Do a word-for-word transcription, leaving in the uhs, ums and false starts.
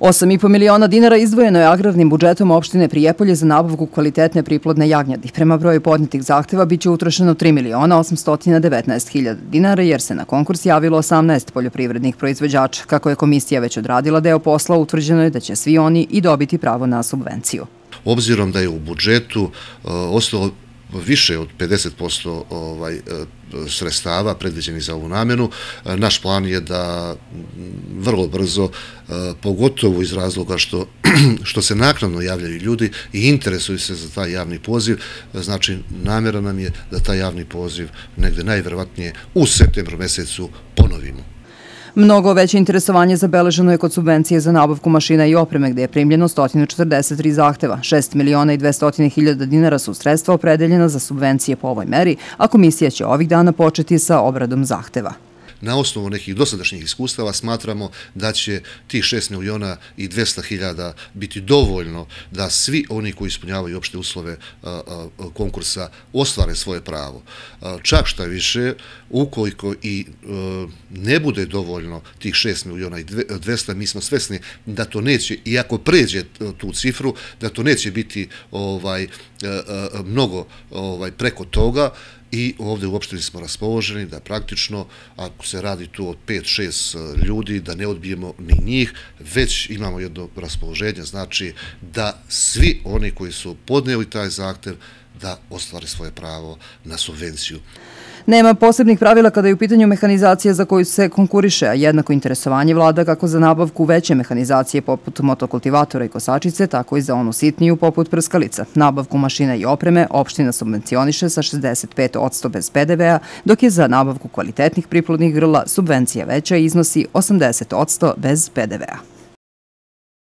osam i po miliona dinara izdvojeno je agrarnim budžetom opštine Prijepolje za nabavku kvalitetne priplodne jagnjadi. Prema broju podnetih zahteva biće utrošeno tri miliona osamsto devetnaest hiljada dinara jer se na konkurs javilo osamnaest poljoprivrednih proizvođača. Kako je komisija već odradila deo posla, utvrđeno je da će svi oni i dobiti pravo na subvenciju. Obzirom da je u budžetu ostalo više od pedeset posto sredstava predviđenih za ovu namenu, naš plan je da vrlo brzo, pogotovo iz razloga što se naknadno javljaju ljudi i interesuju se za taj javni poziv, znači namjera nam je da taj javni poziv negde najverovatnije u septembru mesecu ponovimo. Mnogo veće interesovanje zabeleženo je kod subvencije za nabavku mašina i opreme gde je primljeno sto četrdeset tri zahteva. šest miliona i dvesta hiljada dinara su sredstva opredeljena za subvencije po ovoj meri, a komisija će ovih dana početi sa obradom zahteva. Na osnovu nekih dosadašnjih iskustava smatramo da će tih šest miliona i dvesta hiljada biti dovoljno da svi oni koji ispunjavaju opšte uslove konkursa ostvare svoje pravo. Čak šta više, ukoliko i ne bude dovoljno tih šest miliona i dvesta, mi smo svesni da to neće, i ako pređe tu cifru, da to neće biti mnogo preko toga. I ovdje u opštini smo raspoloženi da praktično, ako se radi tu od pet šest ljudi, da ne odbijemo ni njih, već imamo jedno raspoloženje, znači da svi oni koji su podnijeli taj zahtev da ostvare svoje pravo na subvenciju. Nema posebnih pravila kada je u pitanju mehanizacija za koju se konkuriše, a jednako interesovanje vlada kako za nabavku veće mehanizacije poput motokultivatora i kosačice, tako i za onu sitniju poput prskalica. Nabavku mašina i opreme opština subvencioniše sa šezdeset pet posto bez pe de ve a, dok je za nabavku kvalitetnih priplodnih grla subvencija veća i iznosi osamdeset posto bez pe de ve a.